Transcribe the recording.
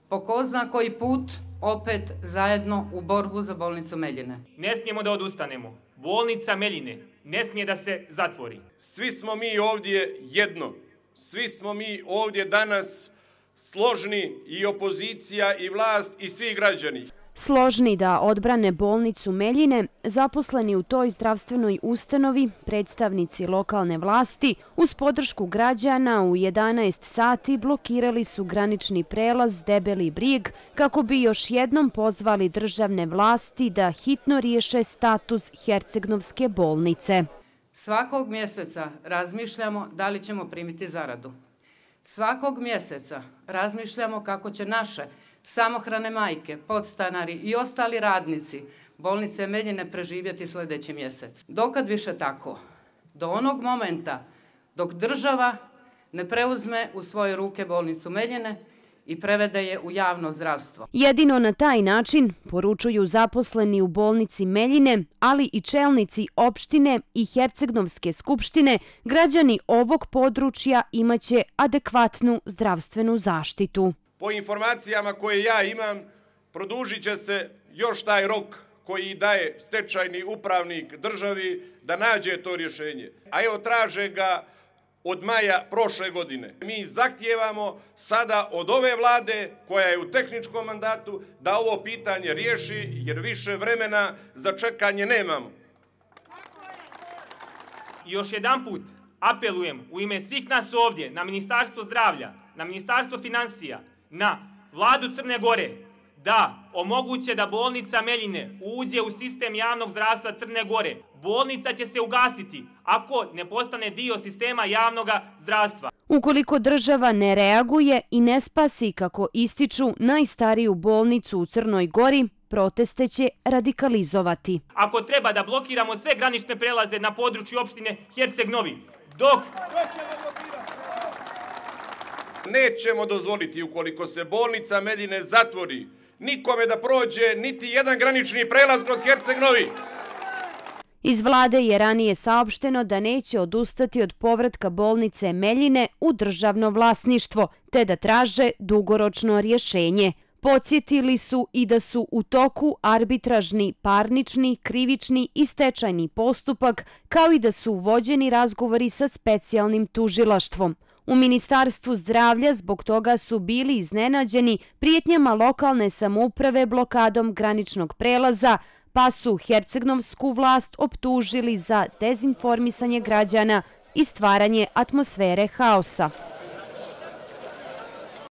po ko zna koji put opet zajedno u borbu za bolnicu Meljine. Ne smijemo da odustanemo. Bolnica Meljine ne smije da se zatvori. Svi smo mi ovdje jedno. Svi smo mi ovdje danas složni, i opozicija i vlast i svi građani. Složni da odbrane bolnicu Meljine, zaposleni u toj zdravstvenoj ustanovi, predstavnici lokalne vlasti, uz podršku građana u 11 sati blokirali su granični prelaz Debeli Brijeg kako bi još jednom pozvali državne vlasti da hitno riješe status Hercegnovske bolnice. Svakog mjeseca razmišljamo da li ćemo primiti zaradu. Svakog mjeseca razmišljamo kako će naše samohrane majke, podstanari i ostali radnici bolnice Meljine preživjeti sljedeći mjesec. Dokad više tako? Do onog momenta dok država ne preuzme u svoje ruke bolnicu Meljine i prevede je u javno zdravstvo. Jedino na taj način, poručuju zaposleni u bolnici Meljine, ali i čelnici opštine i Hercegnovske skupštine, građani ovog područja imaće adekvatnu zdravstvenu zaštitu. Po informacijama koje ja imam, produžit će se još taj rok koji daje stečajni upravnik državi da nađe to rješenje. A evo, traže ga od maja prošle godine. Mi zahtijevamo sada od ove vlade, koja je u tehničkom mandatu, da ovo pitanje riješi, jer više vremena za čekanje nemamo. Još jedanput apelujem u ime svih nas ovdje na Ministarstvo zdravlja, na Ministarstvo financija, na vladu Crne Gore da omoguće da bolnica Meljine uđe u sistem javnog zdravstva Crne Gore. Bolnica će se ugasiti ako ne postane dio sistema javnog zdravstva. Ukoliko država ne reaguje i ne spasi, kako ističu, najstariju bolnicu u Crnoj Gori, proteste će radikalizovati. Ako treba da blokiramo sve granične prelaze na području opštine Herceg Novi, dok nećemo dozvoliti, ukoliko se bolnica Meljine zatvori, nikome da prođe niti jedan granični prelaz kroz Herceg Novi. Iz vlade je ranije saopšteno da neće odustati od povratka bolnice Meljine u državno vlasništvo, te da traže dugoročno rješenje. Podsjetili su i da su u toku arbitražni, parnični, krivični i stečajni postupak, kao i da su vođeni razgovori sa specijalnim tužilaštvom. U Ministarstvu zdravlja zbog toga su bili iznenađeni prijetnjama lokalne samouprave blokadom graničnog prelaza, pa su hercegnovsku vlast optužili za dezinformisanje građana i stvaranje atmosfere haosa.